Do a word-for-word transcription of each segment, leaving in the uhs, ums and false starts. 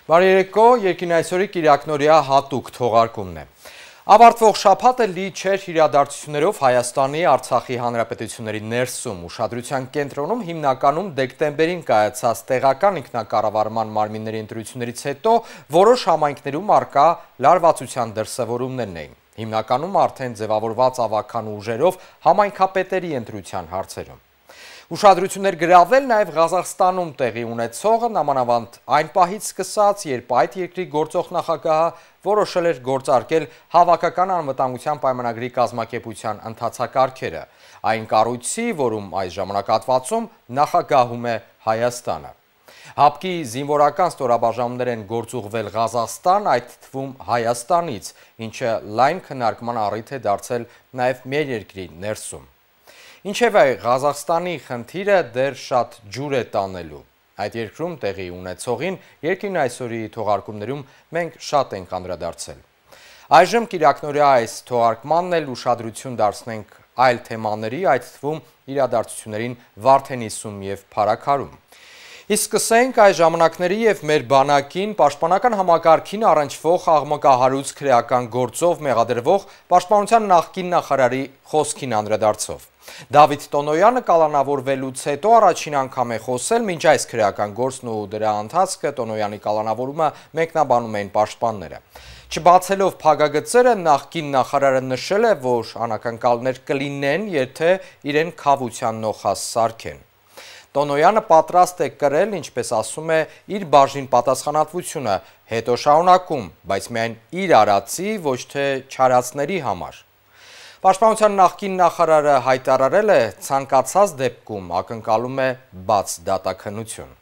Բարի երեկո, երկին այսօրի կիրակնօրյա հատուկ թողարկումն է։ Ավարտվող շաբաթը լի չէր իրադարձություններով Հայաստանի, Արցախի հանրապետությունների ներսում, ուշադրության կենտրոնում հիմնականում դեկտեմբերին կայացած տեղական ինքնակառավարման մարմինների ընտրություններից հետո որոշ համայնքներում առկա լարվածության դրսևորումներն էին։ Հիմնականում արդեն ձևավորված ավագան ուժերով համայնքապետերի ընտրության հարցերում։ Ուշադրություններ գրավել նաև Ղազախստանում տեղի ունեցողը, նամանավանդ այն պահից սկսած, երբ այդ երկրի գործող նախագահը որոշել էր գործարկել հավաքական անվտանգության պայմանագրի կազմակերպության ընթացակարգերը, այն կառույցի, որում այս ժամանակահատվածում նախագահում է Հայաստանը։ ՀԱՊԿ-ի զինվորական ստորաբաժանումներ են գործուղվել Ղազախստան, այդ թվում Հայաստանից, ինչը լայն քննարկման առիթ է դարձել նաև մեր երկրի ներսում։ Ինչևէ, Ղազախստանի խնդիրը դեռ շատ ջուր է տանելու։ Այդ երկրում տեղի ունեցողին երկին այսօրի թողարկումներում մենք շատ ենք անդրադարձել։ Այժմ կիրակնօրյա այս թողարկմանն էլ ուշադրություն դարձնենք այլ թեմաների, այդ թվում իրադարձություններին Վարդենիսում և Փարաքարում։ Իսկ սկսենք այս ժամանակների և մեր բանակին պաշտպանական համակարգին առնչվող աղմկահարույց քրեական գործով մեղադրվող պաշտպանության նախկին նախարարի խոսքին անդրադարձով։ Դավիթ Տոնոյանը կալանավորվելուց հետո առաջին անգամ է խոսել, մինչ այս քրեական գործն ու դրա ընթացքը Տոնոյանի կալանավորումը մեկնաբանում էին պաշտպանները։ Չբացելով փակագծերը, նախկին նախարարը նշել է, որ անակնկալներ կլինեն, եթե իրեն քավության նոխազ սարքեն։ Տոնոյանը պատրաստ է կրել, ինչպես ասում է, իր բաժին պատասխանատվությունը, հետո շարունակում, բայց միայն իր արածի, ոչ թե չարածների համար։ Պաշտպանության նախկին նախարարը հայտարարել է, ցանկացած դեպքում ակնկալում է բաց դատաքննություն։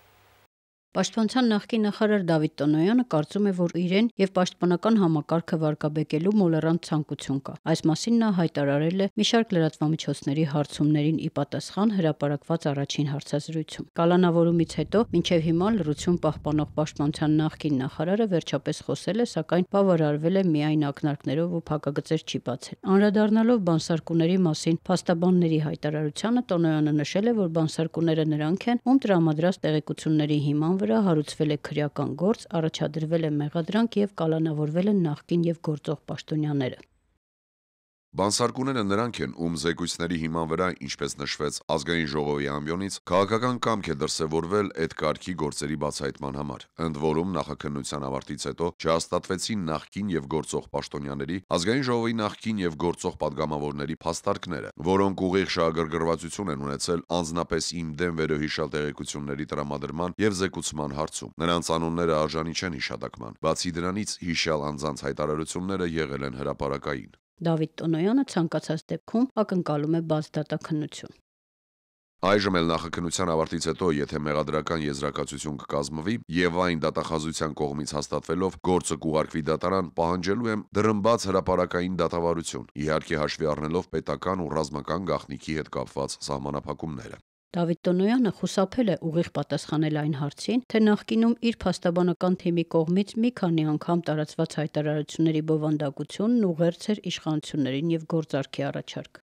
Պաշտպանության նախկին նախարար Դավիթ Տոնոյանը կարծում է, որ իրեն եւ պաշտպանական համակարգը վարկաբեկելու մոլեռանդ ցանկություն կա։ Այս մասին նա հայտարարել է մի շարք լրատվամիջոցների հարցումներին ի պատասխան հրապարակված առաջին հարցազրույցում։ Կալանավորումից հետո մինչև հիմա լռություն պահպանող պաշտպանության նախկին նախարարը վերջապես խոսել է, սակայն բավարարվել է միայն ակնարկներով ու փակագծեր չի բացել։ Անդրադառնալով բանսարկուների մասին փաստաբանների հայտարարությանը, Տոնոյանը նշել է, որ բանսարկուները նրանք են, ում տրամադրած տեղեկությունների հիման վրա հարուցվել է քրեական գործ, առաջադրվել է մեղադրանք եւ կալանավորվել են նախկին եւ գործող պաշտոնյաները։ Բանսարկուները նրանք են, ում զեկույցների հիման վրա, ինչպես նշվեց ազգային ժողովի ամբիոնից, քաղաքական կամք է դրսևորվել այդ կարգի գործերի բացահայտման համար։ Ընդ որում նախաքննության ավարտից հետո չհաստատվեցին նախկին եւ գործող պաշտոնյաների, ազգային ժողովի նախկին եւ գործող падգամավորների փաստարկները, որոնք ուղիղ շահագրգռվածություն են ունեցել անձնապես իմ դեմ վերոհիշյալ տեղեկությունների տրամադրման եւ զեկուցման հարցում։ Նրանց անունները արժանի չեն հիշատակման։ Բացի դրանից, հիշյալ անձանց հայտարարությունները եղել են հրապարակային։ Դավիթ Տոնոյանը ցանկացած դեպքում ակնկալում է բաց դատաքննություն։ Այժմ էլ նախաքննության ավարտից հետո, եթե մեղադրական եզրակացություն կկազմվի եւ այն դատախազության կողմից հաստատվելով գործը կուղարկվի դատարան, պահանջելու եմ դրմբաց հրապարակային դատավարություն, իհարկե հաշվի առնելով պետական ու ռազմական գաղտնիքի հետ կապված սահմանափակումները։ Դավիթ Տոնոյանը խուսափել է ուղիղ պատասխանել այն հարցին, թե նախկինում իր փաստաբանական թիմի կողմից մի քանի անգամ տարածված հայտարարությունների բովանդակությունն ուղերձ էր իշխանություններին եւ գործարքի առաջարկ։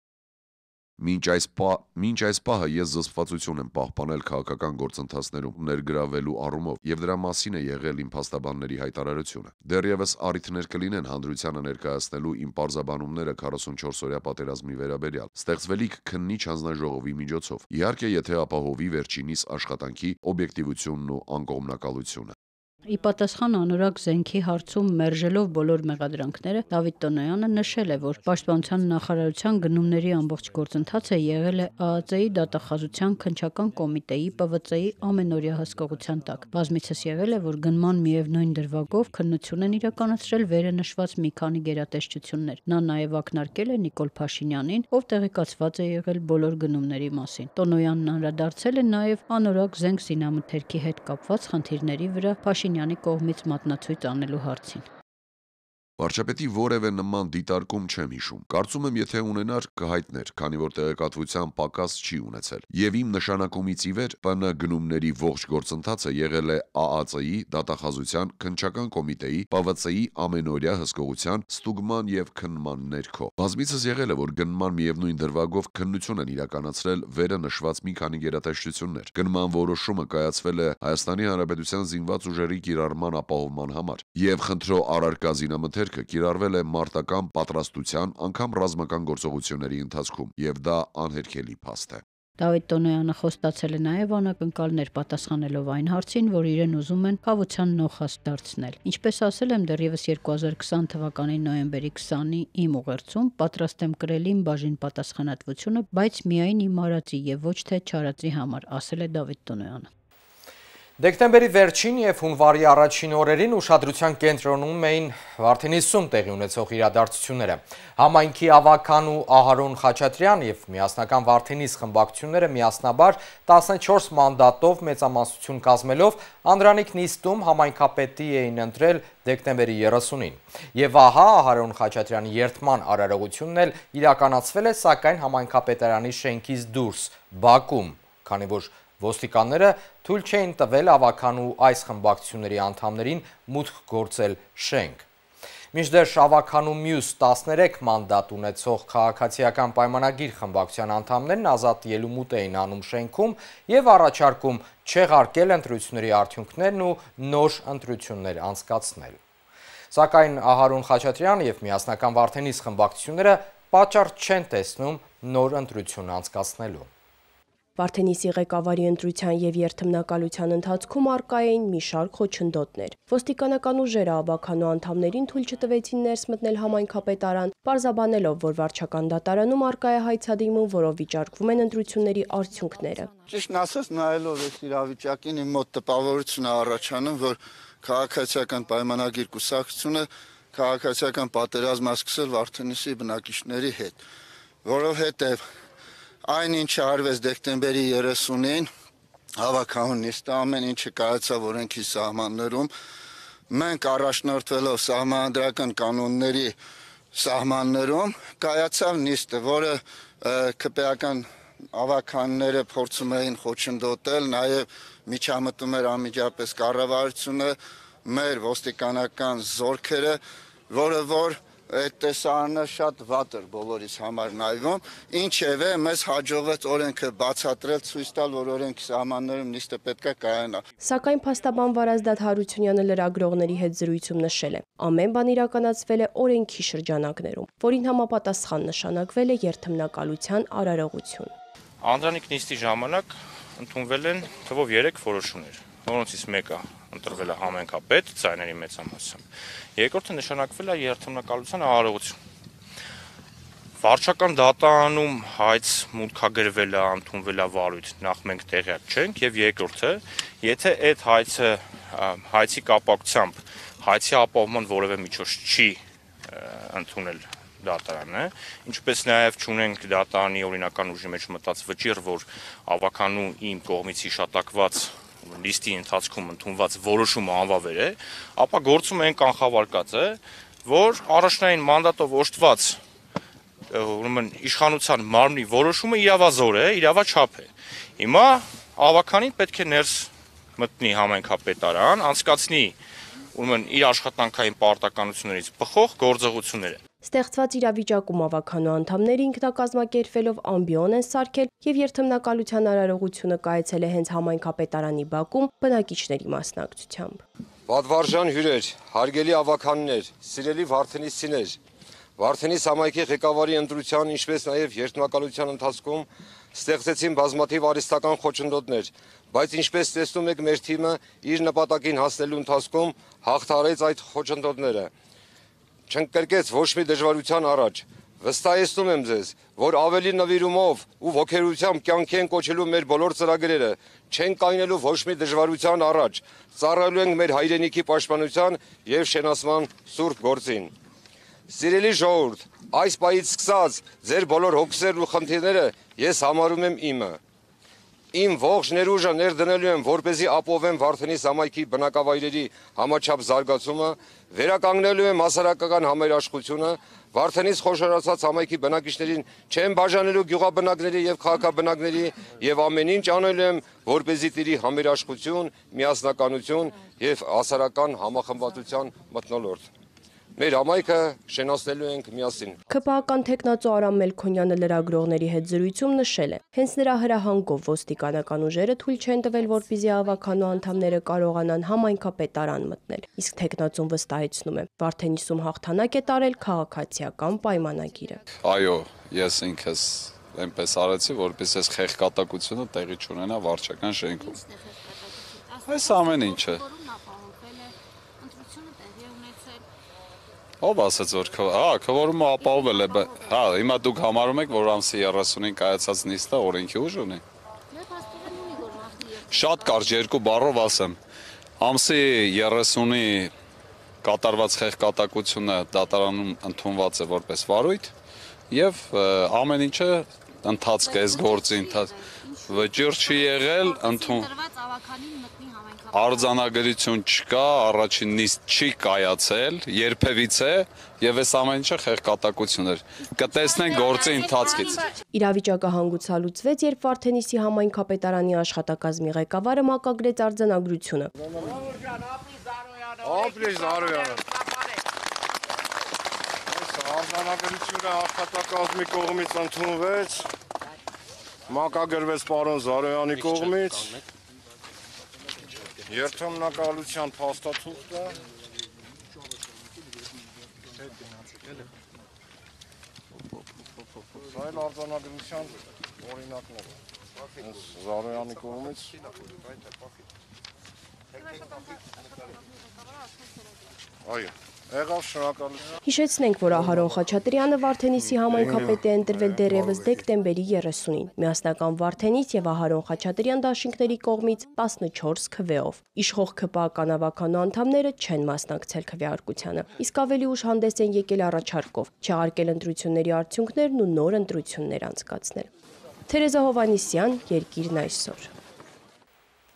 Մինչ այս, պա, մինչ այս պահը ես զսպվածություն եմ պահպանել քաղաքական գործընթացներում ներգրավելու առումով եւ դրա մասին է եղել իմ փաստաբանների հայտարարությունը։ Դեռևս առիթներ կլինեն հանրությանը ներկայացնելու իմ պարզաբանումները քառասունչորս օրյա պատերազմի վերաբերյալ, ստեղծվելիք քննիչ հանձնաժողովի միջոցով, իհարկե եթե ապահովի վերջինիս աշխատանքի օբյեկտիվությունն ու անկողմնակալությունը։ Ի պատասխան անորակ զենքի հարցում մերժելով բոլոր մեղադրանքները, Դավիթ Տոնոյանը նշել է, որ պաշտպանության նախարարության գնումների ամբողջ գործընթացը եղել է ԱԱԾ-ի դատախազության քննչական կոմիտեի Պ V C-ի ամենօրյա հսկողության տակ։ Բազմիցս եղել է, որ գնման միևնույն դրվագով քննություն են իրականացրել վերը նշված մի քանի գերատեսչություններ։ Նա նաև ակնարկել է Նիկոլ Փաշինյանին, ով տեղեկացված է եղել բոլոր գնումների մասին։ Տոնոյանն անդրադարձել է նաև անորակ զենք զինամթերքի հետ կապված խնդիրների վրա Փաշինյանի կողմից մատնացույց անելու հարցին։ Վարչապետի որևէ նման դիտարկում չեմ հիշում։ Կարծում եմ, եթե ունենար, կհայտներ, քանի որ տեղեկատվության պակաս չի ունեցել։ Եվ իմ նշանակումից ի վեր ՊՆ գնումների ողջ գործընթացը եղել է ԱԱԾ-ի, դատախազության, քննչական կոմիտեի, ՊՎՑ-ի ամենօրյա հսկողության, ստուգման եւ քննման ներքո։ Բազմիցս եղել է, որ գնման միևնույն դրվագով քննություն են իրականացրել վերը նշված մի քանի գերատեսչություններ։ Գնման որոշումը կայացվել է Հայաստանի Հանրապետության զինված ուժերի կիրառման ապահովման համար, եւ խնդրո առարկա զինամթերքը կիրառվել է մարտական պատրաստության, անգամ ռազմական գործողությունների ընթացքում, եւ դա անհերքելի փաստ է։ Դավիթ Տոնոյանը խոստացել է նաև անակնկալներ պատասխանելով այն հարցին, որ իրեն ուզում են կավության նոխաստ դարձնել։ Ինչպես ասել եմ դեռևս երկու հազար քսան թվականի նոյեմբերի քսանի իմ ուղերձում, պատրաստ եմ կրել իմ բաժին պատասխանատվությունը, բայց միայն իմ արածի եւ ոչ թե չարածի համար, ասել է Դավիթ Տոնոյանը։ Դեկտեմբերի վերջին և հունվարի առաջին օրերին ուշադրության կենտրոնում էին Վարդենիսում տեղի ունեցող իրադարձությունները։ Համայնքի Ավագանու Ահարոն Խաչատրյան և միասնական Վարդենիս խմբակցությունները միասնաբար տասնչորս մանդատով մեծամասնություն կազմելով Անդրանիկ նիստում համայնքապետի էին ընտրել դեկտեմբերի երեսունին։ Եվ ահա Ահարոն Խաչատրյանի երդման արարողությունն էլ իրականացվել է, սակայն համայնքապետարանի շենքից դուրս, բակում, քանի որ ոստիկանները թույլ չէին տվել Ավագանու այս խմբակցությունների անդամներին մուտք գործել շենք։ Մինչդեռ Ավագանու մյուս տասներեք մանդատ ունեցող քաղաքացիական պայմանագիր խմբակցության անդամներն ազատ ելումուտ էին անում շենքում եւ առաջարկում չեղարկել ընտրությունների արդյունքներն ու նոր ընտրություններ անցկացնել։ Սակայն Ահարոն Խաչատրյան եւ միասնական Վարդենիս խմբակցությունները պատճառ չեն տեսնում նոր ընտրություն անցկացնելու։ Վարդենիսի ղեկավարի ընտրության եւ երթմնակալության ընթացքում առկա էին մի շարք խոչընդոտներ։ Ոստիկանական ուժերը Ավագանու անդամներին թույլ չտվեցին ներս մտնել համայնքապետարան, պարզաբանելով, որ վարչական դատարանում առկա է հայցադիմում, որով վիճարկվում են ընտրությունների արդյունքները։ Ճիշտն ասած, նայելով այս իրավիճակին իմ մոտ տպավորություն է առաջանում, որ քաղաքացիական պայմանագիր կուսակցությունը քաղաքացիական պատերազմ է սկսել Վարդենիսի բնակիչների հետ, որովհետեւ այն ինչը արվեց դեկտեմբերի երեսունին, Ավագանու նիստը ամեն ինչը կայացավ օրենքի սահմաններում, մենք առաջնորդվելով սահմանադրական կանոնների սահմաններում կայացավ նիստը, որը քպեական ավագանները փորձում էին խոչընդոտել, նաև միջամտում էր անմիջապես կառավարությունը, մեր ոստիկանական զորքերը, որը որ այդ տեսարանը շատ վատ էր բոլորիս համար նայվում, ինչևէ մեզ հաջողվեց օրենքը բացատրել, ցույց տալ, որ օրենքի սահմաններում նիստը պետք է կայանա։ Սակայն փաստաբան Վարազդատ Հարությունյանը լրագրողների հետ զրույցում նշել է. ամեն բան իրականացվել է օրենքի շրջանակներում, որին համապատասխան նշանակվել է երթմնակալության արարողություն։ Անդրանիկ նիստի ժամանակ ընդունվել են թվով երեք որոշումներ, որոնցից մեկը ընտրվել է համայնքապետ ձայների մեծամասնությամբ, երկրորդը նշանակվել է երթմնակալության արարողություն։ Վարչական դատարանում հայց մուտքագրվել է, ընդունվել է վարույթ, նախ մենք տեղյակ չենք, եւ երկրորդը, եթե այդ հայցը հայցի կապակցությամբ հայցի ապահովման որևէ միջոց չի ընդունել դատարանը, ինչպես նաև չունենք դատարանի օրինական ուժի մեջ մտած վճիռ, որ Ավագանու իմ կողմից հիշատակված լիստի ընթացքում ընդունված որոշումը անվավեր է, ապա գործում են կանխավարկած է, որ առաջնային մանդատով օժտված ուրեմն իշխանության մարմնի որոշումը իրավազոր է, իրավաչափ է։ Հիմա Ավագանին պետք է ներս մտնի համայնքապետարան, անցկացնի ուրեմն իր աշխատանքային պարտականություններից բխող գործողությունները։ Ստեղծված իրավիճակում Ավագանու անդամները ինքնակազմակերպվելով ամբիոն են սարքել եւ երթմնակալության արարողությունը կայացել է հենց համայնքապետարանի բակում բնակիչների մասնակցությամբ։ Պատվարժան հյուրեր, հարգելի ավագաններ, սիրելի վարդենիսցիներ, Վարդենիս համայնքի ղեկավարի ընտրության, ինչպես նաև երթմնակալության ընթացքում ստեղծեցին բազմաթիվ արհեստական խոչընդոտներ, բայց ինչպես տեսնում եք, մեր թիմը իր նպատակին հասնելու ընթացքում հաղթարեց այդ խոչընդոտները։ Չընկրկեց ոչ մի դժվարության առաջ։ Վստահեցնում եմ ձեզ, որ ավելի նվիրումով ու ոգերությամբ կյանքի են կոչելու մեր բոլոր ծրագրերը, չեն կայնելու ոչ մի դժվարության առաջ, ծառայելու ենք մեր հայրենիքի պաշտպանության եւ շենացման սուրբ գործին։ Սիրելի ժողովուրդ, այս պահից սկսած ձեր բոլոր հոգսերն ու խնդիրները ես համարում եմ իմը։ Իմ ողջ ներուժը ներդնելու եմ, որպեսզի ապահովեմ Վարդենիս համայնքի բնակավայրերի համաչափ զարգացումը, վերականգնելու եմ հասարակական համերաշխությունը, Վարդենիս խոշորացած համայնքի բնակիչներին չեմ բաժանելու գյուղաբնակների եւ քաղաքաբնակների եւ ամեն ինչ անելու եմ, որպեսզի տիրի համերաշխություն, միասնականություն եւ հասարակական համախմբվածության մթնոլորտ։ Մեր համայնքը շենացնելու ենք միասին։ ՔՊԱ-ական թեկնածու Արամ Մելքոնյանը լրագրողների հետ զրույցում նշել է, հենց նրա հրահանգով ոստիկանական ուժերը թույլ չեն տվել, որպեսզի ավականու անդամները կարողանան համայնքապետարան մտնել։ Իսկ թեկնածուն վստահեցնում է, Վարդենիսում հաղթանակ է տարել քաղաքացիական պայմանագիրը։ Այո, ես ինքս այնպես արեցի, որպես այս խեղկատակությունը տեղի չունենա վարչական շենքում։ Այս ամեն ինչը Ով ասաց, որ քվորումը ապահովել է, հա, հիմա դուք համարում եք, որ ամսի երեսունին կայացած նիստը օրենքի ուժ ունի։ Շատ կարճ երկու բառով ասեմ, ամսի երեսունի կատարված խեղկատակությունը դատարանում ընդունված է որպես վարույթ եւ ամեն ինչը ընթացք է, այս գործի ընթացք վճիռ չի եղել, ընդուն Արձանագրություն չկա, առաջին նիստ չի կայացել, երբևիցե եւ այս ամեն ինչը խեղկատակություն էր։ Կտեսնենք գործի ընթացքից։ Իրավիճակը հանգուցալուծվեց, երբ Վարդենիսի համայնքապետարանի աշխատակազմի ղեկավարը մակագրեց արձանագրությունը։ Ապրի Զարոյանը։ Արձանագրությունը աշխատակազմի կողմից ընդունվեց, մակագրվեց պարոն Զարոյանի կողմից։ Երթմնակալության փաստաթուղթը Սայլ արձանագրության օրինակները Զարոյանի կողմից Այո Եղավ շնորհակալություն։ Հիշեցնենք, որ Ահարոն Խաչատրյանը Վարդենիսի համայնքապետ է ընտրվել դեռևս դեկտեմբերի երեսունին։ Միասնական Վարդենիս եւ Ահարոն Խաչատրյան դաշինքների կողմից տասնչորս քվեով։ Իշխող ՔՊԱ-ական ավականու անդամները չեն մասնակցել քվեարկությանը, իսկ ավելի ուշ հանդես են եկել առաջարկով չեղարկել ընտրությունների արդյունքներն ու նոր ընտրություններ անցկացնել։ Թերեզա Հովանիսյան, Երկիրն այսօր։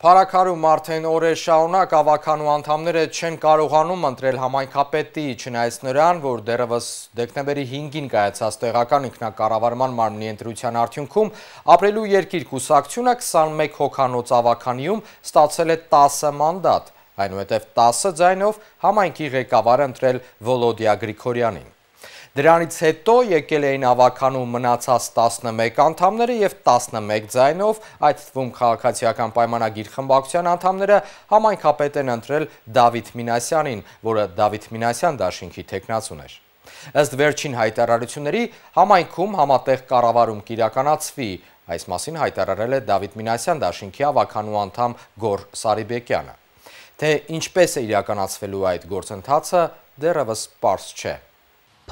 Փարաքարում արդեն օրեր շարունակ ավականու անդամները չեն կարողանում ընտրել համայնքապետի, չնայած նրան, որ դեռևս դեկտեմբերի հինգին կայացած տեղական ինքնակառավարման մարմնի ընտրության արդյունքում ապրելու երկիր կուսակցությունը քսանմեկ հոգանոց ավականիում ստացել է տասը մանդատ, այնուհետև տասը ձայնով համայնքի ղեկավարը ընտրել Վոլոդիա Գրիգորյանին։ Դրանից հետո եկել էին ավականու մնացած տասնմեկ անդամները և տասնմեկ ձայնով, այդ թվում քաղաքացիական պայմանագիր խմբակցության անդամները համայնքապետ են ընտրել Դավիթ Մինասյանին, որը Դավիթ Մինասյան դաշինքի թեկնածուն էր։ Ըստ վերջին հայտարարությունների համայնքում համատեղ կառավարում կիրականացվի, այս մասին հայտարարել է Դավիթ Մինասյան դաշինքի ավականու անդամ Գոռ Սարիբեկյանը։ Թե ինչպես է իրականացվելու այդ գործընթացը դեռևս պարզ չէ։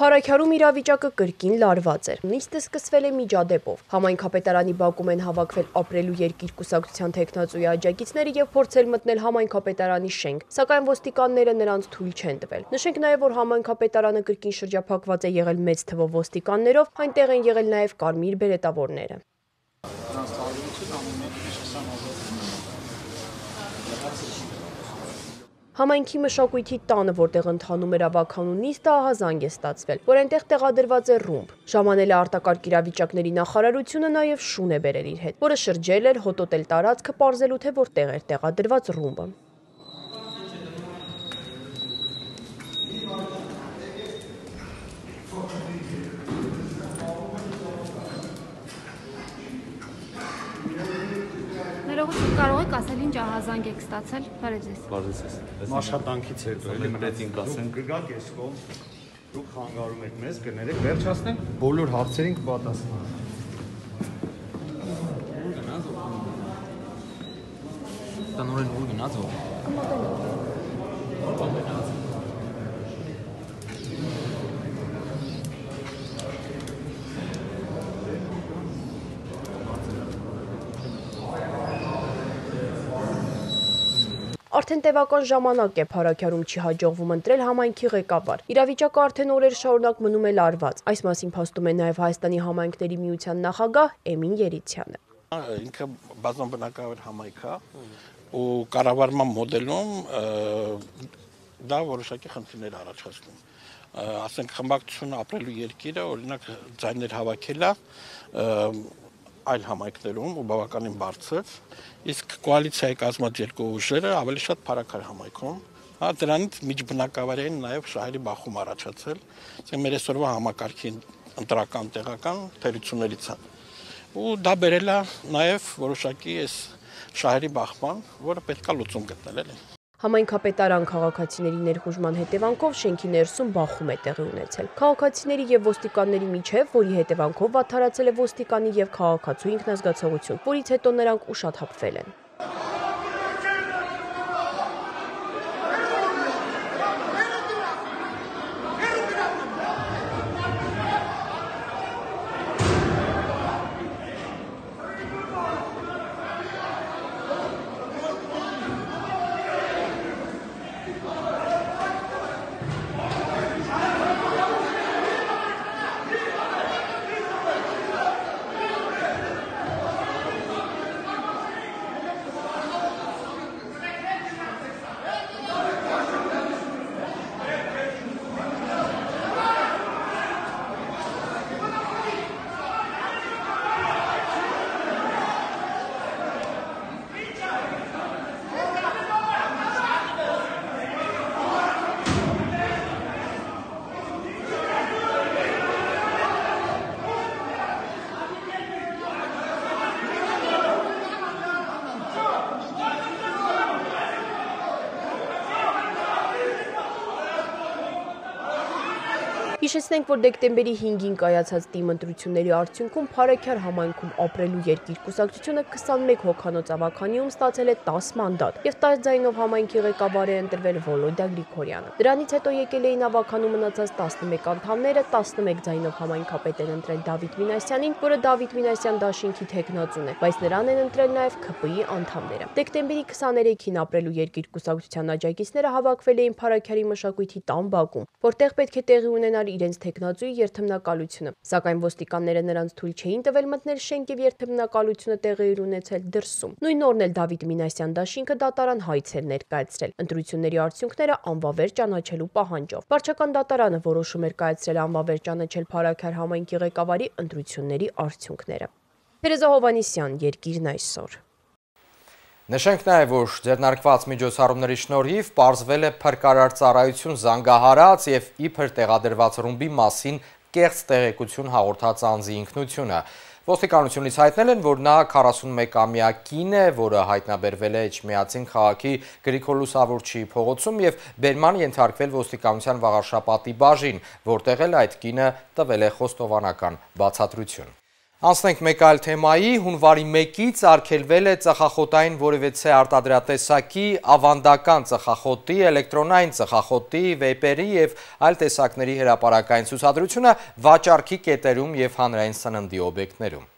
Փարաքարում իրավիճակը կրկին լարված էր։ Նիստը սկսվել է միջադեպով։ Համայնքապետարանի բակում են հավաքվել ապրելու երկիր կուսակցության թեկնածուի աջակիցները եւ փորձել մտնել համայնքապետարանի շենք, սակայն ոստիկանները նրանց թույլ չեն տվել։ Նշենք նաեւ, որ համայնքապետարանը կրկին շրջափակված է եղել մեծ թվով ոստիկաններով, այնտեղ են եղել նաեւ կարմիր բերետավորները։ Համայնքի մշակույթի տանը, որտեղ ընթանում էր ավականու նիստը, ահազանգ է ստացվել, որ այնտեղ տեղադրված է ռումբ։ Ժամանել է արտակարգ իրավիճակների նախարարությունը նաև շուն է բերել իր հետ, որը շրջել էր, հոտոտել տարածքը, պարզելու թե որտեղ էր տեղադրված ռումբը։ Կարող եք ասել ինչ ահազանգ եք ստացել, բարև ձեզ։ Բարև ձեզ։ Աշխատանքից հետո էլի մտեցինք ասեմ։ Կգաք էս կողմ, դուք խանգարում եք մեզ, կներեք, վերջացնենք բոլոր հարցերին կպատասխանենք։ Ուր գնաց ո՞վ։ Տնօրեն ուր գնաց ո՞վ։ Ո՞վ գնաց։ Արդեն տևական ժամանակ է Փարաքարում չի հաջողվում ընտրել համայնքի ղեկավար։ Իրավիճակը արդեն օրեր շարունակ մնում է լարված։ Այս մասին փաստում է նաև Հայաստանի համայնքների միության նախագահ Էմին Երիցյանը։ Ինքը բազմաբնակավար համայնք է ու կառավարման մոդելում դա որոշակի խնդիրներ առաջացնում։ Ասենք խմբակցությունը ապրելու երկիրը օրինակ ձայներ հավաքել է այլ համայնքներում ու բավականին բարձր, իսկ կոալիցիայի կազմած երկու ուժերը ավելի շատ փառաքար համայնքում, հա դրանից միջբնակավարային նաև շահերի բախում առաջացել, ասենք մեր այսօրվա համակարգի ընտրական տեղական թերություններից է։ Ու դա բերել է նաև որոշակի այս շահերի բախման, որը պետք է լուծում գտնել էլի։ Համայնքապետարան քաղաքացիների ներխուժման հետևանքով շենքի ներսում բախում է տեղի ունեցել։ Քաղաքացիների եւ ոստիկանների միջև, որի հետևանքով վատթարացել է ոստիկանի եւ քաղաքացու ինքնազգացողություն, որից հետո նրանք ուշաթափվել են։ Հիշեցնենք, որ դեկտեմբերի հինգին կայացած թիմ ընտրությունների արդյունքում Փարաքար համայնքում ապրելու երկիր կուսակցությունը քսանմեկ հոգանոց ավագանիում ստացել է տաս մանդատ եւ տաս ձայնով համայնքի ղեկավար է ընտրվել Վոլոդիա Գրիգորյանը։ Դրանից հետո եկել էին ավագանու մնացած տասնմեկ անդամները, տասնմեկ ձայնով համայնքապետ են ընտրել Դավիթ Մինասյանին, որը Դավիթ Մինասյան դաշինքի թեկնածուն է, բայց նրան են ընտրել նաեւ K P I անդամները։ Դեկտեմբերի քսաներեքին ապրելու երկիր կուսակցության աջակիցները հավաքվել էին Փարաքարի մշակույթի տան բակում, որտեղ պետք է տեղի ունենալ իրենց թեկնածուի երթմնակալությունը, սակայն ոստիկանները նրանց թույլ չէին տվել մտնել շենք եւ երթմնակալությունը տեղի էր ունեցել դրսում։ Նույն օրն էլ Դավիթ Մինասյան դաշինքը դատարան հայց էր ներկայացրել ընտրությունների արդյունքները անվավեր ճանաչելու պահանջով։ Վարչական դատարանը որոշում էր կայացրել անվավեր ճանաչել Փարաքար համայնքի ղեկավարի ընտրությունների արդյունքները։ Փերեզա Հովանիսյան, Երկիրն այսօր։ Նշենք նաև, որ ձեռնարկված միջոցառումների շնորհիվ պարզվել է փրկարար ծառայություն զանգահարած եւ իբր տեղադրված ռումբի մասին կեղծ տեղեկություն հաղորդած անձի ինքնությունը։ Ոստիկանությունից հայտնել են, որ նա քառասունմեկամյա կին է, որը հայտնաբերվել է Էջմիածին քաղաքի Գրիգոր Լուսավորչի փողոցում եւ բերման ենթարկվել ոստիկանության Վաղարշապատի բաժին, որտեղ էլ այդ կինը տվել է խոստովանական բացատրություն։ Անցնենք մեկ այլ թեմայի, հունվարի մեկից արգելվել է ծխախոտային որևէ արտադրատեսակի, ավանդական ծխախոտի, էլեկտրոնային ծխախոտի, վեյպերի եւ այլ տեսակների հրապարակային ցուցադրությունը վաճառքի կետերում եւ հանրային սննդի օբյեկտներում։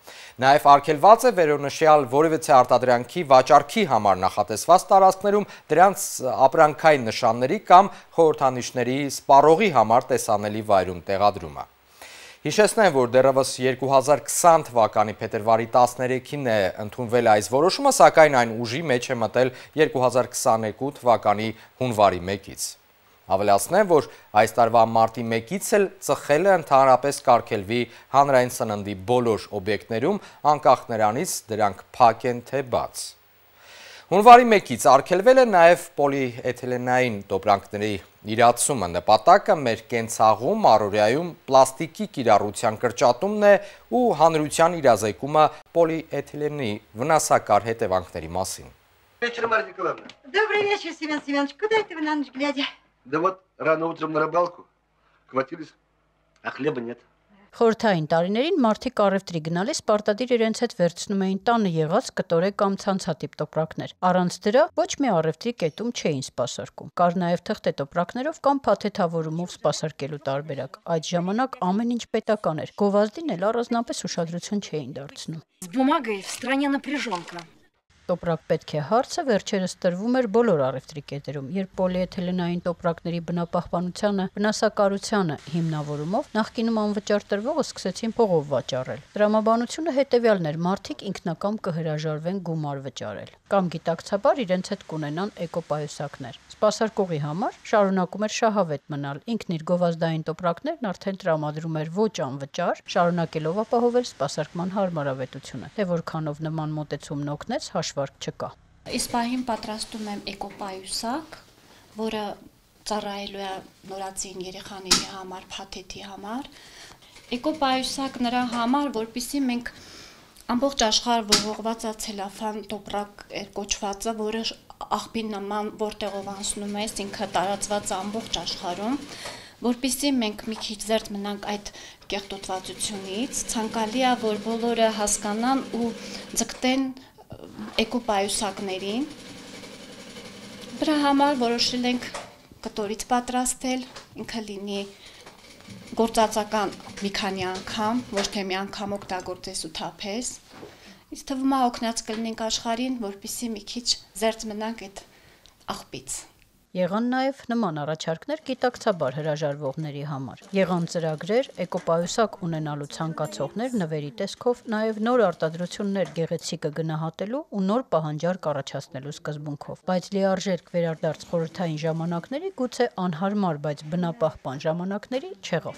Նաև արգելված է վերոնշյալ որևէ արտադրանքի վաճառքի համար նախատեսված տարածքներում դրանց ապրանքային նշանների կամ խորհրդանիշների սպառողի համար տեսանելի վայրում տեղադրումը։ Հիշեցնեմ, որ դեռևս երկու հազար քսան թվականի փետրվարի տասներեքին է ընդունվել այս որոշումը, սակայն այն ուժի մեջ է մտել երկու հազար քսաներկու թվականի հունվարի մեկից։ Ավելացնեմ, որ այս տարվա մարտի մեկից էլ ծխելը ընդհանրապես կարգելվի հանրային սննդի բոլոր օբյեկտներում, անկախ նրանից դրանք փակ են թե բաց։ Հունվարի մեկից արգելվել է նաև պոլիէթիլենային տոպրանքների իրացումը, նպատակը մեր կենցաղում, առօրյայում պլաստիկի կիրառության կրճատումն է ու հանրության իրազեկումը պոլիէթիլենի վնասակար հետևանքների մասին։ Вечер, Марья Николаевна. Добрый вечер, Семен Семенович. Куда это вы на ночь глядя? Да вот рано утром на рыбалку хватились, а хлеба нет. Խորհրդային տարիներին մարդիկ առևտրի գնալիս պարտադիր իրենց հետ վերցնում էին տանը եղած կտորե կամ ցանցատիպ տոպրակներ։ Առանց դրա ոչ մի առևտրի կետում չէին սպասարկում։ Կար նաև թղթե տոպրակներով կամ փաթեթավորումով սպասարկելու տարբերակ։ Այդ ժամանակ ամեն ինչ պետական էր։ Գովազդին էլ առանձնապես ուշադրություն չէին դարձնում։ С бумагой в стране напряженка. Տոպրակ պետք է հարցը վերջերս տրվում էր բոլոր առևտրի կետերում, երբ պոլիէթիլենային տոպրակների բնապահպանությանը, վնասակարությանը հիմնավորումով նախկինում անվճար տրվողը սկսեցին փողով վաճառել։ Տրամաբանությունը հետևյալն էր՝ մարդիկ ինքնակամ կհրաժարվեն գումար վճարել կամ գիտակցաբար իրենց հետ կունենան էկոպայուսակներ։ Սպասարկողի համար շարունակում էր շահավետ մնալ, ինքն իր գովազդային տոպրակներն արդեն տրամադրում էր ոչ անվճար, շարունակելով ապահովել սպասարկման հարմարավետությունը, թե որքանով նման մոտեցումն օգնեց հաշվարկ չկա։ Իսկ պահին պատրաստում եմ էկոպայուսակ, որը ծառայելու է նորածին երեխաների համար, փաթեթի համար։ Էկոպայուսակ նրա համար, որպեսզի մենք ամբողջ աշխարհ ողողված ցելոֆան տոպրակ կոչվածը, որը աղբի նման որտեղով անցնում է, ինքը տարածված ամբողջ աշխարհում, որպեսզի մենք մի քիչ զերծ մնանք այդ կեղտոտվածությունից, ցանկալի է, որ բոլորը հասկանան ու ձգտեն էկոպայուսակներին։ Դրա համար որոշել ենք կտորից պատրաստել, ինքը լինի գործածական մի քանի անգամ, ոչ թե մի անգամ օգտագործես ու թափես։ Իսկ թվում է օգնած կլինենք աշխարհին, որպեսզի մի քիչ զերծ մնանք այդ աղբից։ Եղան նաև նման առաջարկներ գիտակցաբար հրաժարվողների համար։ Եղան ծրագրեր, էկոպայուսակ ունենալու ցանկացողներ նվերի տեսքով, նաև նոր արտադրություններ գեղեցիկը գնահատելու ու նոր պահանջարկ առաջացնելու սկզբունքով։ Բայց լիարժեք վերադարձ խորհրդային ժամանակների գուցե անհարմար, բայց բնապահպան ժամանակների չեղավ։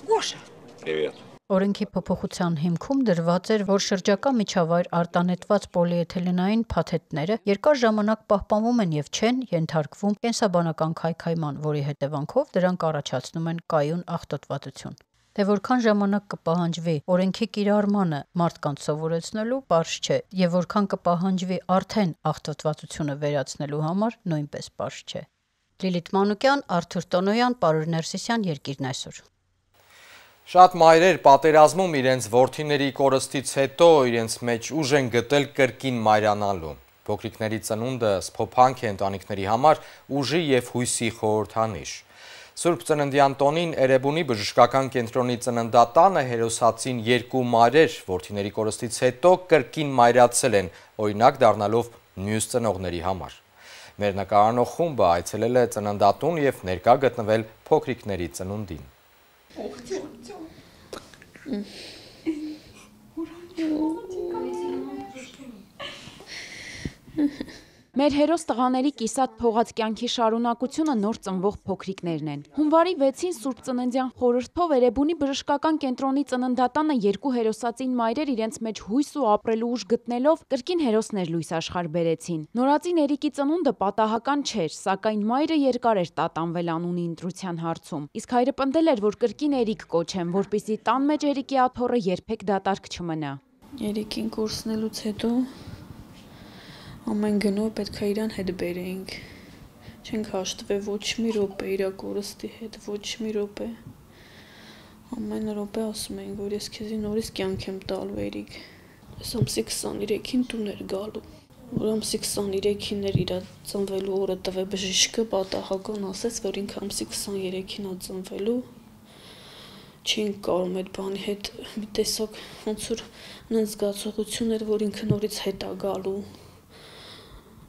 Гоша. Привет. Օրենքի փոփոխության հիմքում դրված էր, որ շրջակա միջավայր արտանետված պոլիէթիլենային փաթեթները երկար ժամանակ պահպանվում են եւ չեն ենթարկվում կենսաբանական քայքայման, որի հետևանքով դրանք առաջացնում են կայուն աղտոտվածություն։ Թե որքան ժամանակ կպահանջվի օրենքի կիրառմանը մարդկանց սովորեցնելու, պարզ չէ, եւ որքան կպահանջվի արդեն աղտոտվածությունը վերացնելու համար, նույնպես պարզ չէ։ Լիլիթ Մանուկյան, Արթուր Տոնոյան, Պարուր Ներսիսյան, Երկիրն այսօր։ Շատ մայրեր պատերազմում իրենց որդիների կորստից հետո իրենց մեջ ուժ են գտել կրկին մայրանալու։ Փոքրիկների ծնունդը սփոփանք է ընտանիքների համար ուժի եւ հույսի խորհրդանիշ։ Սուրբ Ծննդյան տոնին Էրեբունի բժշկական կենտրոնի ծննդատանը հերոսացին երկու մայրեր որդիների կորստից հետո կրկին մայրացել են, օրինակ դառնալով մյուս ծնողների համար։ Մեր նկարանող խումբը այցելել է ծննդատուն եւ ներկա գտնվել փոքրիկների ծնունդին։ Մեր հերոս տղաների կիսատ փողած կյանքի շարունակությունը նոր ծնվող փոքրիկներն են։ Հունվարի վեցին Սուրբ Ծննդյան խորհրդով Էրեբունի բժշկական կենտրոնի ծննդատանը երկու հերոսացին մայրեր իրենց մեջ հույս ու ապրելու ուժ գտնելով կրկին հերոսներ լույս աշխարհ բերեցին։ Նորածին Էրիկի ծնունդը պատահական չէր, սակայն մայրը երկար էր տատանվել անունի ընտրության հարցում։ Իսկ հայրը պնդել էր, որ կրկին Էրիկ կոչեն, որպեսզի տան մեջ Էրիկի աթոռը երբեք դատարկ չմնա։ Էրիկին կորցնելուց հետո ամեն գնով պետք է իրան հետ բերեինք, չենք հաշտվել ոչ մի րոպե իրա կորստի հետ, ոչ մի րոպե, ամեն րոպե ասում էինք, որ ես քեզի նորից կյանք եմ տալու Էրիկ, ես ամսի քսաներեքին տուն էր գալու, որ ամսի քսաներեքին էր իրա ծնվելու օրը տվե բժիշկը պատահական ասեց, որ ինքը ամսի քսաներեքին ա ծնվելու, չենք կարում այդ բանի հետ մի տեսակ ոնց որ նենց զգացողություն էր, որ ինքը նորից հետ ա գալու,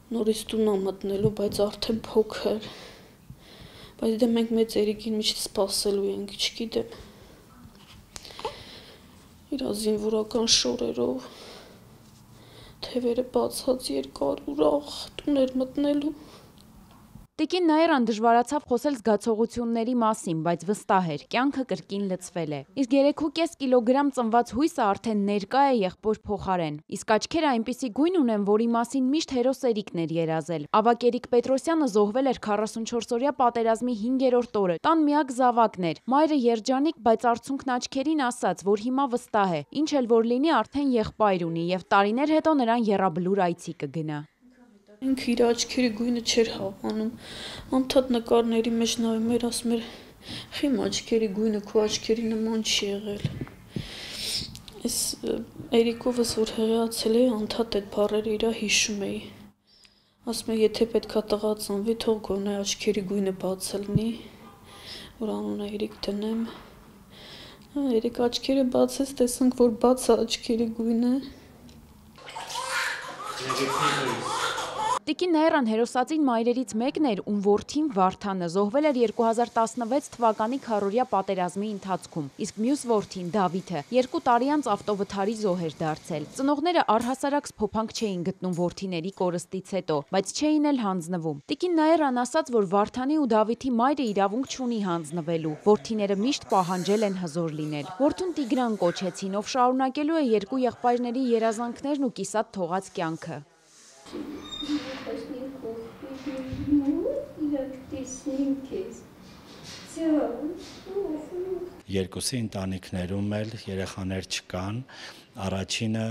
նորից տուն ա մտնելու, բայց արդեն փոքր, բայց դե մենք մեծ Էրիկին միշտ սպասելու ենք, չգիտեմ, իրա զինվորական շորերով, թևերը բացած երկար ուրախ տուն էր մտնելու։ Տիկին Նաիրան դժվարացավ խոսել զգացողությունների մասին, բայց վստահ էր, կյանքը կրկին լցվել է։ Իսկ երեք ու կես կիլոգրամ ծնված հույսը արդեն ներկա է եղբոր փոխարեն։ Իսկ աչքերը այնպիսի գույն ունեն, որի մասին միշտ հերոս Էրիկն էր երազել։ Ավագ Էրիկ Պետրոսյանը զոհվել էր քառասունչորսօրյա պատերազմի հինգերորդ օրը, տան միակ զավակն էր։ Մայրը երջանիկ, բայց արցունքն աչքերին ասաց, որ հիմա վստահ է, ինչ էլ որ լինի, արդեն եղբայր ունի եւ տարիներ հետո նրան եռաբլուր այցի կգնա։ Ինքը իր աչքերի գույնը չէր հավանում, անդադ նկարների մեջ նայում էր, ասում էր, խիմ աչքերի գույնը քո աչքերի նման չի եղել։ Ես Էրիկովս որ հեղացել էի, անդադ այդ բառերը իրա հիշում էի։ Ասում է, եթե պետքա տղա ծնվի, թող գոնե աչքերի գույնը բաց լինի, որ անունը Էրիկ դնեմ։ Երեք աչքերը բացեց, տեսանք, որ բաց է աչքերի գույնը։ Տիկին Նաիրան հերոսածին մայրերից մեկն էր, ում որդին Վարդանը զոհվել էր երկու հազար տասնվեց թվականի քառօրյա պատերազմի ընթացքում, իսկ մյուս որդին Դավիթը երկու տարի անց ավտովթարի զոհ էր դարձել։ Ծնողները առհասարակ սփոփանք չէին գտնում որդիների կորստից հետո, բայց չէին էլ հանձնվում։ Տիկին Նաիրան ասաց, որ Վարդանի ու Դավիթի մայրը իրավունք չունի հանձնվելու, որդիները միշտ պահանջել են հզոր լինել։ Որդուն Տիգրան կոչեցին, ով շարունակելու է երկու եղբայրների երազանքներն ու կիսատ թողած կյանքը։ Երկուսի ընտանիքներում էլ երեխաներ չկան, առաջինը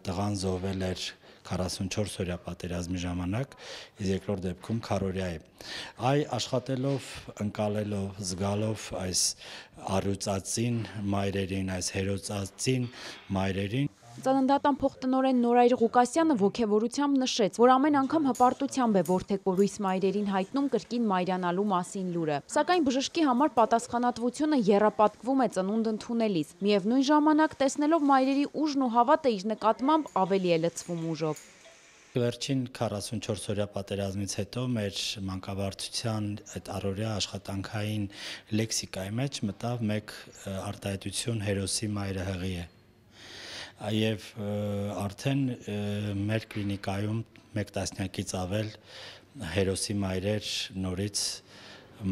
տղան զոհվել էր քառասունչորս օրյա պատերազմի ժամանակ, իսկ երկրորդ դեպքում քառօրյա է։ Այ աշխատելով, ընկալելով, զգալով այս առյուծածին մայրերին, այս հերոսածին մայրերին, Ծննդատան փոխտնօրեն Նորայր Ղուկասյանը ոգևորությամբ նշեց, որ ամեն անգամ հպարտությամբ է որդեկորույս մայրերին հայտնում կրկին մայրանալու մասին լուրը։ Սակայն բժշկի համար պատասխանատվությունը եռապատկվում է ծնունդ ընդունելիս, միևնույն ժամանակ տեսնելով մայրերի ուժն ու հավատը իր նկատմամբ ավելի է լցվում ուժով։ Վերջին քառասունչորս օրյա պատերազմից հետո մեր մանկաբարձության այդ առօրյա աշխատանքային լեքսիկայի մեջ մտավ մեկ արտահայտություն հերոսի մայրը հղի է։ Եվ արդեն մեր կլինիկայում մեկ տասնյակից ավել հերոսի մայրեր նորից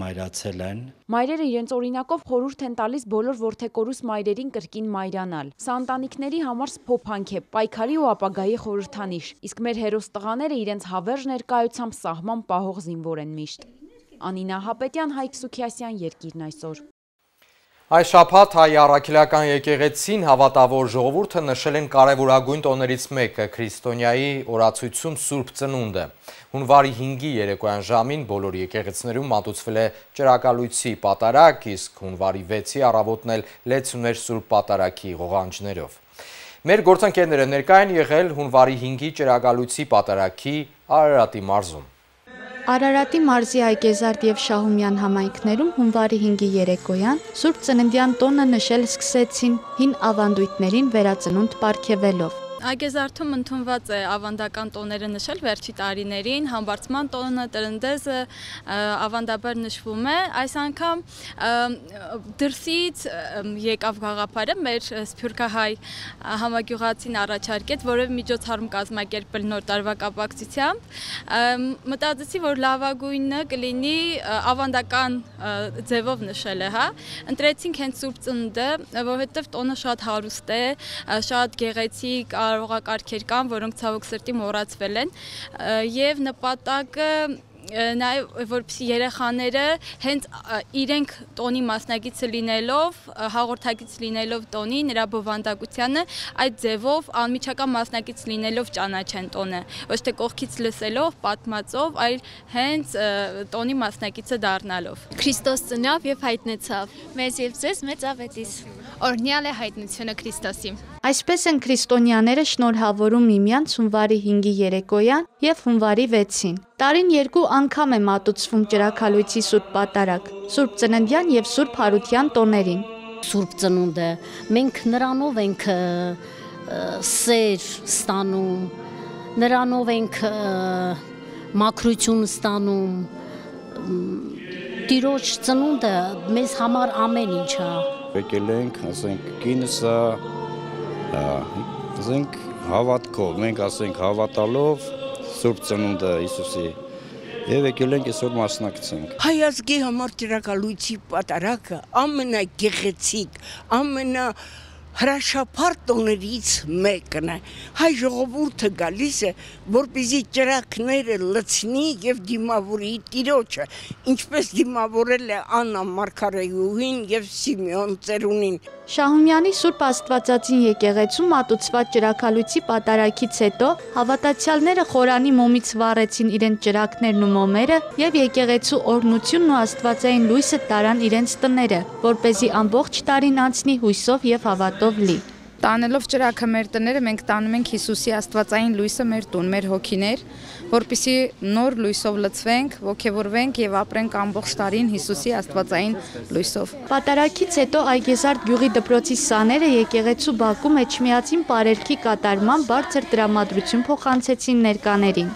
մայրացել են։ Մայրերը իրենց օրինակով խորհուրդ են տալիս բոլոր որդեկորուս մայրերին կրկին մայրանալ։ Սա ընտանիքների համար սփոփանք է, պայքարի ու ապագայի խորհրդանիշ, իսկ մեր հերոս տղաները իրենց հավերժ ներկայությամբ սահման պահող զինվոր են միշտ։ Անինա Հապետյան, Հայկ Սուքիասյան, Երկիրն այսօր։ Այս շաբաթ հայ առաքելական եկեղեցին հավատավոր ժողովուրդը նշել են կարևորագույն տոներից մեկը քրիստոնյայի օրացույցում Սուրբ Ծնունդը։ Հունվարի հինգի երեկոյան ժամին բոլոր եկեղեցիներում մատուցվել է ճրագալույցի պատարակ, իսկ հունվարի վեցի առավոտն էլ լեցուներ Սուրբ Պատարագի ղողանջներով։ Մեր գործընկերները ներկա են եղել հունվարի հինգի ճրագալույցի պատարագի Արարատի մարզում։ Արարատի մարզի Այգեզարդ և Շահումյան համայնքներում հունվարի հինգի երեկոյան Սուրբ Ծննդյան տոնը նշել սկսեցին հին ավանդույթներին վերածնունդ պարգևելով։ Այգեզարդում ընդունված է ավանդական տոները նշել վերջի տարիներին, համբարձման տոնը, տրնդեզը ավանդաբար նշվում է, այս անգամ դրսից եկավ գաղափարը մեր սփյուռքահայ համագյուղացին առաջարկեց որևէ միջոցառում կազմակերպել նոր տարվա կապակցությամբ, մտածեցի, որ լավագույնը կլինի ավանդական ձևով նշելը, հա, ընտրեցինք հենց Սուրբ Ծնունդը, որովհետև տոնը շատ հարուստ է, շատ գեղեցիկ, կարողակարգեր կան, որոնք ցավոք սրտի մոռացվել են, եւ նպատակը նաև որպեսզի երեխաները հենց իրենք տոնի մասնակիցը լինելով, հաղորդակից լինելով տոնի, նրա բովանդակությանը այդ ձևով անմիջական մասնակից լինելով ճանաչեն տոնը, ոչ թե կողքից լսելով, պատմածով, այլ հենց տոնի մասնակիցը դառնալով։ Քրիստոս ծնավ եւ հայտնեցավ։ Մեզ եւ ձեզ մեծ ավետիս։ Օրհնյալ է հայտնությունը Քրիստոսի։ Այսպես են քրիստոնյաները շնորհավորում միմյանց հունվարի հինգի երեկոյան եւ հունվարի վեցին։ Տարին երկու անգամ է մատուցվում ճրագալույցի Սուրբ Պատարագ, Սուրբ Ծննդյան եւ Սուրբ Հարության տոներին։ Սուրբ Ծնունդը մենք նրանով ենք սեր ստանում, նրանով ենք մաքրություն ստանում։ Տիրոջ ծնունդը մեզ համար ամեն ինչ է։ Եկել ենք, ասենք, կինսը, ասենք, հավատքով, մենք ասենք հավատալով Սուրբ Ծնունդը Հիսուսի եւ եկել ենք այսօր մասնակցենք։ Հայ ազգի համար ճրագալույցի պատարագը ամենագեղեցիկ, ամենա հրաշափառ տոներից մեկն է։ Հայ ժողովուրդը գալիս է, որպեսզի ճրագները լցնի եւ դիմավորի Տիրոջը, ինչպես դիմավորել է Աննա Մարգարեյուհին եւ Սիմեոն ծերունին։ Շահումյանի Սուրբ Աստվածածին եկեղեցում մատուցված ճրագալույցի պատարագից հետո հավատացյալները խորանի մոմից վառեցին իրենց ճրագներն ու մոմերը եւ եկեղեցու օրհնությունն ու աստվածային լույսը տարան իրենց տները, որպեսզի ամբողջ տարին անցնի հույսով եւ հավատով լի։ Տանելով ճրագը մեր տները, մենք տանում ենք Հիսուսի աստվածային լույսը մեր տուն, մեր հոգիներ, որպեսզի նոր լույսով լցվենք, ոգևորվենք եւ ապրենք ամբողջ տարին Հիսուսի աստվածային լույսով։ Պատարագից հետո Այգեզարդ գյուղի դպրոցի սաները եկեղեցու բակում էջմիածին պարերքի կատարման բարձր տրամադրություն փոխանցեցին ներկաներին։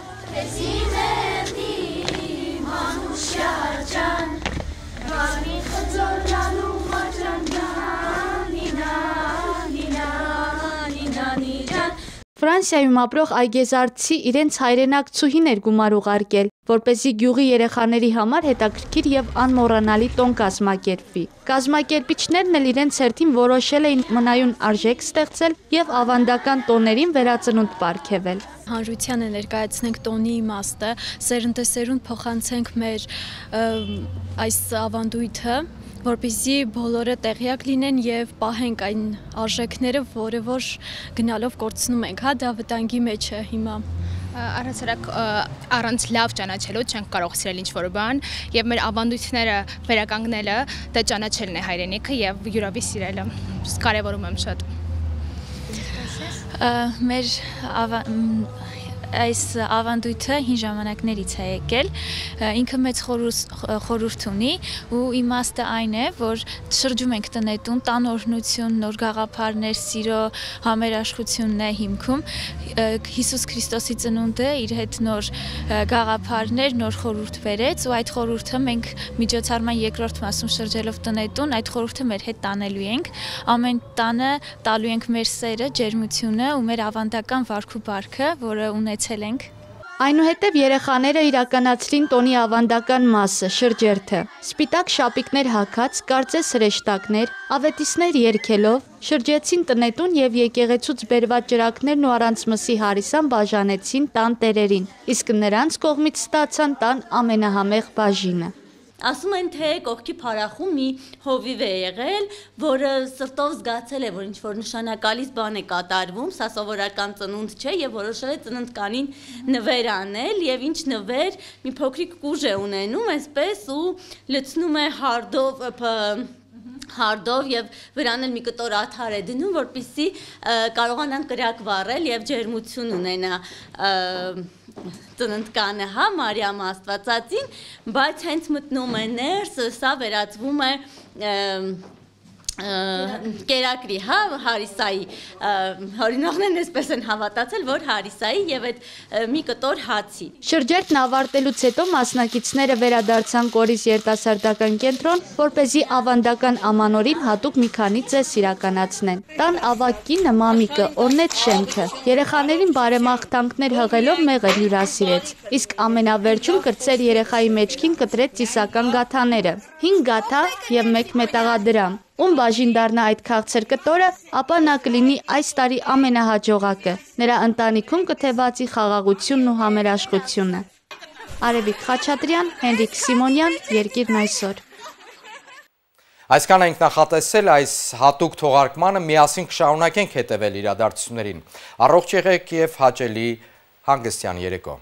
Ֆրանսիայում ապրող այգեզարդցի իրենց հայրենակցուհին էր գումար ուղարկել, որպեսզի գյուղի երեխաների համար հետաքրքիր եւ անմոռանալի տոն կազմակերպվի։ Կազմակերպիչներն էլ իրենց հերթին որոշել էին մնայուն արժեք ստեղծել եւ ավանդական տոներին վերածնունդ պարգևել։ Հանրությանը ներկայացնենք տոնի իմաստը, սերնդեսերունդ փոխանցենք մեր այս ավանդույթը, որպեսզի բոլորը տեղյակ լինեն եւ պահենք այն արժեքները, որը որ գնալով կորցնում ենք, հա, դա վտանգի մեջ է հիմա։ Առանցրակ առանց լավ ճանաչելու չենք կարող սիրել ինչ-որ բան եւ մեր ավանդույթները վերականգնելը դա ճանաչելն է հայրենիքը եւ յուրավի սիրելը։ Կարևորում եմ շատ։ Մեր այս ավանդույթը հին ժամանակներից է եկել, ինքը մեծ խորհուրդ ունի ու իմաստը այն է, որ շրջում ենք տնետուն, տան օրհնություն, նոր գաղափարներ, սիրո համերաշխությունն է հիմքում, Հիսուս Քրիստոսի ծնունդը իր հետ նոր գաղափարներ, նոր խորհուրդ բերեց ու այդ խորհուրդը մենք միջոցառման երկրորդ մասում շրջելով տնետուն, այդ խորհուրդը մեր հետ տանելու ենք, ամեն տանը տալու ենք մեր սերը, ջերմությունը ու մեր ավանդական վարք ու բարքը, որը ունեցել ենք։ Այնուհետև երեխաները իրականացրին տոնի ավանդական մասը, շրջերթը։ Սպիտակ շապիկներ հագած, կարծես հրեշտակներ, ավետիսներ երգելով, շրջեցին տնետուն եւ եկեղեցուց բերված ջրակներն ու առանց մսի հարիսան բաժանեցին տան տերերին, իսկ նրանց կողմից ստացան տան ամենահամեղ բաժինը։ Ասում են, թե կողքի փարախում մի հովիվ է եղել, որը սրտով զգացել է, որ ինչ-որ նշանակալից բան է կատարվում, սա սովորական ծնունդ չէ եւ որոշել է ծննդկանին նվեր անել եւ ինչ նվեր, մի փոքրիկ կուժ է ունենում, այսպես ու լցնում է հարդով հարդով եւ վրան էլ մի կտոր աթար է դնում, որպեսզի կարողանան կրակ վառել եւ ջերմություն ունենա ծննդկանը, հա, Մարիամ Աստվածածին, բայց հենց մտնում է ներս, սա վերածվում է կերակրի, հա, Հարիսայի, հորինողներն այսպես են հավատացել, որ Հարիսայի եւ այդ մի կտոր հացի։ Շրջերթն ավարտելուց հետո մասնակիցները վերադարձան Կորիս երիտասարդական կենտրոն, որպեսզի ավանդական ամանորին հատուկ մի քանի ծես իրականացնեն։ Տան ավագ կինը Մամիկը օրնեց շենքը, երեխաներին բարեմաղթանքներ հղելով մեղր հյուրասիրեց, իսկ ամենավերջում կրծեր երեխայի մեջքին կտրեց ծիսական գաթաները, հինգ գաթա եւ մեկ մետաղադրամ։ Ում բաժին դառնա այդ քաղցր կտորը, ապա նա կլինի այս տարի ամենահաջողակը, նրա ընտանիքում կթևածի խաղաղությունն ու համերաշխությունը։ Արևիկ Խաչատրյան, Հենրիկ Սիմոնյան, Երկիրն այսօր։ Այսքան ենք նախատեսել այս հատուկ թողարկմանը, միասին կշարունակենք հետևել իրադարձություններին։ Առողջ եղեք եւ հաճելի հանգստյան երեկո։